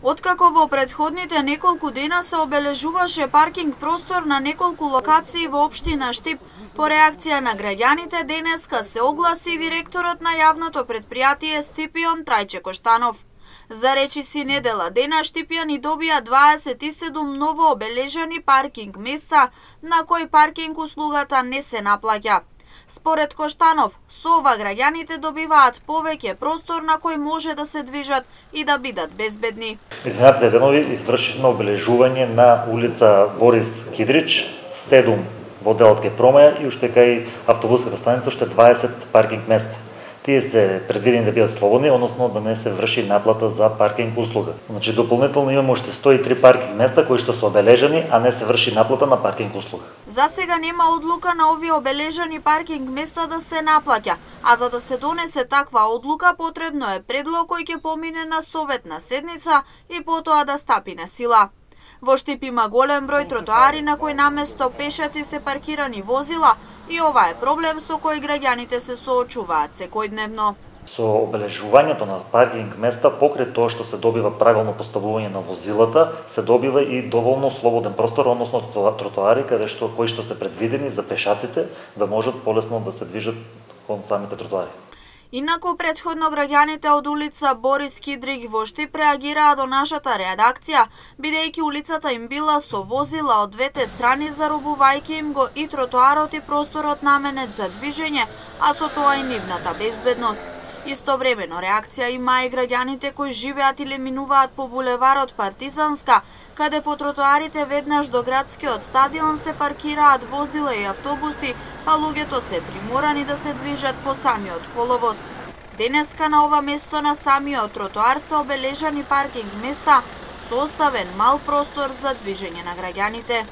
Откако во претходните неколку дена се обележуваше паркинг простор на неколку локации во општина Штип, по реакција на граѓаните денеска се огласи директорот на јавното претпријатие Стипион Трајче Коштанов. За речиси недела дена Штипјани добија 27 ново обележани паркинг места на кои паркинг услугата не се наплаќа. Според Коштанов, со ова граѓаните добиваат повеќе простор на кој може да се движат и да бидат безбедни. Изминатите денови извршивме обележување на улица Борис Кидрич, 7 во делот кај Промаја и уште кај автобуската станица уште 20 паркинг места. Тие се предвидени да бидат слободни, односно да не се врши наплата за паркинг услуга. Значи дополнително имаме уште 103 паркинг места кои што се обележани, а не се врши наплата на паркинг услуга. За сега нема одлука на овие обележани паркинг места да се наплаќа, а за да се донесе таква одлука потребно е предлог кој ќе помине на советна седница и потоа да стапи на сила. Во Штип има голем број тротоари на кои наместо пешаци се паркирани возила и ова е проблем со кој граѓаните се соочуваат секојдневно. Со обележувањето на паркинг места покрај тоа што се добива правилно поставување на возилата, се добива и доволно слободен простор, односно тротоари кои што се предвидени за пешаците да можат полесно да се движат кон самите тротоари. Инаку претходно граѓаните од улица Борис Кидрич во Штип реагираа до нашата редакција, бидејќи улицата им била со возила од двете страни, заробувајќи им го и тротоарот и просторот наменет за движење, а со тоа и нивната безбедност. Истовремено реакција има и граѓаните кои живеат или минуваат по булеварот Партизанска, каде по тротоарите веднаш до градскиот стадион се паркираат возила и автобуси, а луѓето се приморани да се движат по самиот коловоз. Денеска на ова место на самиот тротоар се обележани паркинг места со оставен мал простор за движење на граѓаните.